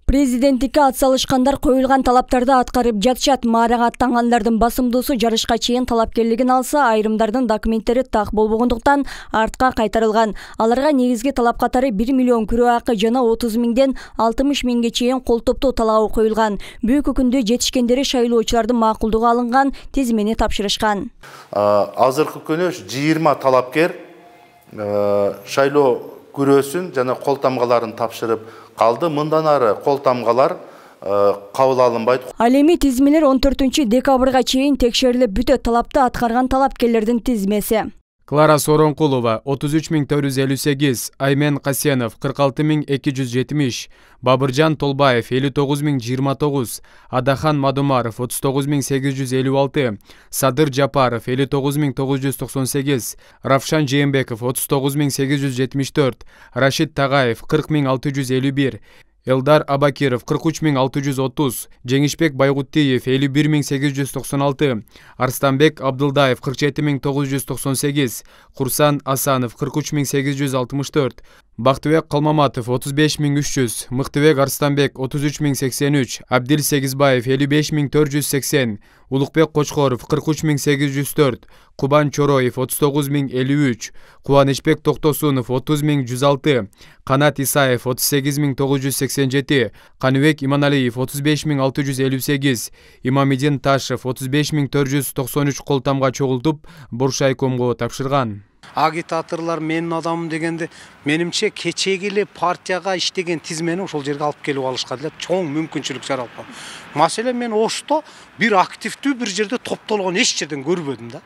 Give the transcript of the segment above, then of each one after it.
Президенттикке ат салышкандар коюлган талаптарды аткарып жатышат. Маарага аттангандардын басымдуусу жарышка чейин талапкерлигин алса, айрымдардын документтери так болбогондуктан артка кайтарылган. Аларга негизги талап катары 1 миллион күрөө акы жана 30 миңден 60 миңге чейин кол топтоо талабы коюлган. Бүгүнкү күндө жетишкендери шайлоочулардын макулдугу алынган тизмени тапшырышкан. Азыркы күнү 20 талапкер шайлоо күрөөсүн жана кол тамгаларын тапшырып калды. Мындан ары кол тамгалар кабыл алынбайт. Ал эми тизмелер 14 декабрга чейин текшерилип бүтөт. Талапты аткарган талапкерлердин тизмеси: Клара Соронкулова 33.458, Аймен Касенов 46.270, Бабыржан Толбаев 59.029, Адахан Мадумаров 39.856, Садыр Жапаров 59.998, Равшан Жээнбеков 39.874, Рашид Тагаев 40.651, Элдар Абакиров 43.630, Жеңишбек Байгуттиев 51.896, Арстанбек Абдылдаев 47.998, Курсан Асанов 43.864, Бактыбек Калмаматов 35.300, Мыктыбек Арстанбек 33.083, Абдил Сегизбаев 55.480, Улукбек Кочкоров 43.804, Кубан Чороев 39.053, Кубанычбек Токтосунов 30.106, Канат Исаев 38.987, Каныбек Иманалиев 35.658, Имамидин Ташев 35.493 кол тамга чогултуп Боршайкомго тапшырган. Агитаторлар менин адамым дегенде, менимче кечеги эле партияга иштеген тизмени ошол жерге алып келип алышка деле чоң мүмкүнчүлүк жаралып. Маселен мен Ошто бир активдүү бир жерде топтолгон эч жерден көрбөдүм да.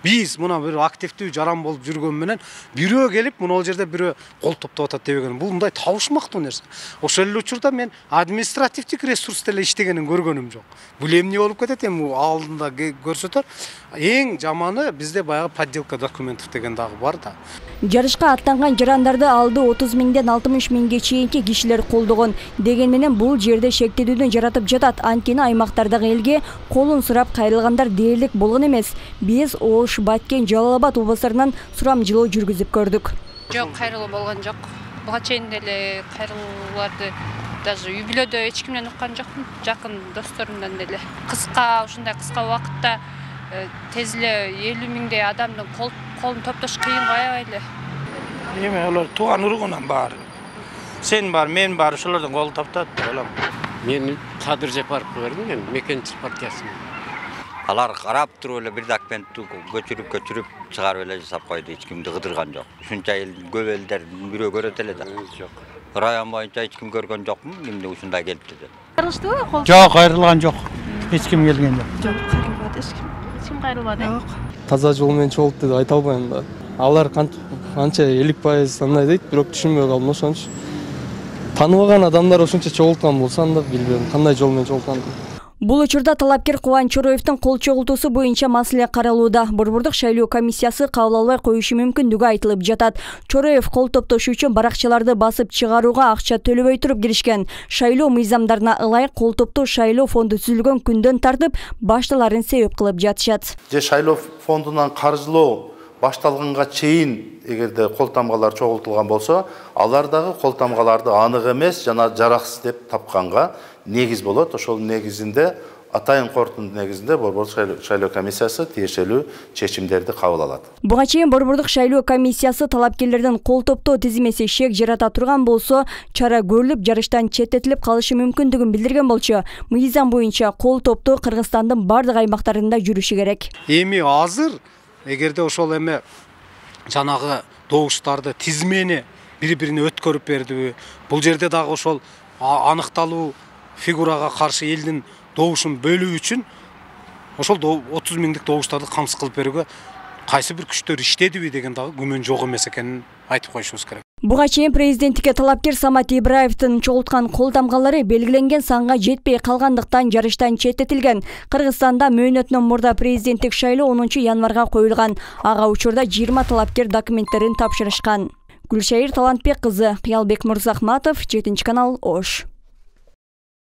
Биз мына бир активдүү жаран болуп жүргөн менен бирөө келип мына жерде бирөө кол топтоп атат дебеген. Бул мындай табышмактуу нерсе. Ошол эле учурда мен административдик ресурста эле иштегенин көргөнүм жок. Бул эмне болуп кетет, эми алдында көрсөтөр. Эң жаманы бизде баягы подделка документов деген дагы бар да. Жарышка аттанган жарандарды алды 30 миңден 60 миңге чейинки кишилер колдогон. Деген менен бул жерде шектелүүдөн жаратып жатат. Анткени аймактардагы элге колун сурап кайрылгандар дээрлик болгон эмес. Биз Ош, Баткен, Жалал Абад областарынан сурамжылоо жүргүзүп көрдүк. Жок, кайрылуу болгон жок. Буга чейин деле кайрылууларды даже үй бүлөдө эч кимден уккан жокмун. Жакын досторумдан деле. Ушундай кыска убакытта тез эле 50 миңдей адамдын колун топтош кыйын аябай эле. Эми алар тууган ургунан баары. Сен бар, мен бар, ошолордун колун топтот деп ойлойм. Мен Садыр Жапаровго бердим, мен Мекенчилик партиясына. Алар карап туруп эле бир документти көчүрүп чыгарып эле жасап койду, эч кимди кыдырган жок. Ушунча эл көп элдер бирөө көрөт эле да. Жок. Район боюнча эч ким көргөн жокмун, кимди ушундай келипти деп. Кайрылыштыбы кол? Жок, кайрылган жок. Эч ким келген жок. Жок, кайрылбады эч ким. Эч ким кайрылбады. Жок. Таза жол менен чогулту деп айта албайм да. Алар канча 50% андай дейт, бирок түшүнбөй калдым. Ошончо тааныбаган адамдар ошончо чогулткан болсо анда билбейм кандай жол менен чогултканын. Бул учурда талапкер Кубан Чороевдин кол чогултуусу боюнча маселе каралууда. Борбордук шайлоо комиссиясы кабыл албай коюшу мүмкүндүгү айтылып жатат. Чороев кол топтош үчүн баракчаларды басып чыгарууга акча төлөбөй туруп киришкен. Шайлоо мыйзамдарына ылайык кол топтоо шайлоо фонду түзүлгөн күндөн тартып башталарын себеп кылып жатышат. Шайлоо фондунан каржылоо башталганга чейин эгерде кол тамгалар чогултулган болсо, алар дагы кол тамгаларды анык эмес жана жараксыз деп тапканга негиз болот. Ошол негизинде атайын корутундун негизинде Борбордук шайлоо комиссиясы тиешелүү чечимдерди кабыл алат. Буга чейин Борбордук шайлоо комиссиясы талапкерлердин кол топтоо тизмеси шек жарата турган болсо, чара көрүлүп, жарыштан четтетилип калышы мүмкүндүгүн билдирген болчу. Мыйзам боюнча кол топтоо Кыргызстандын бардык аймактарында жүрүшү керек. Эми азыр эгерде ошол эме жанагы добуштарды тизмени бири-бирине өткөрүп бердиби, бул жерде дагы ошол аныкталуу фигурага каршы элдин добушун бөлүү үчүн ошол 30 миңдик добуштарды камсыз кылып берүүгө кайсы бир күчтөр иштедиби деген дагы күмөн жок эмес экенин айтып коюшубуз керек. Буга чейин президенттикке талапкер Самат Ибраевдин чогулткан кол тамгалары белгиленген санга жетпей калгандыктан жарыштан четтетилген. Кыргызстанда мөөнөтүнөн мурда президенттик шайлоо 10 январга коюлган. Ага учурда 20 талапкер документтерин тапшырышкан. Гүлшайыр Талантбек кызы, Кыялбек Мырзахматов, 7 канал, Ош.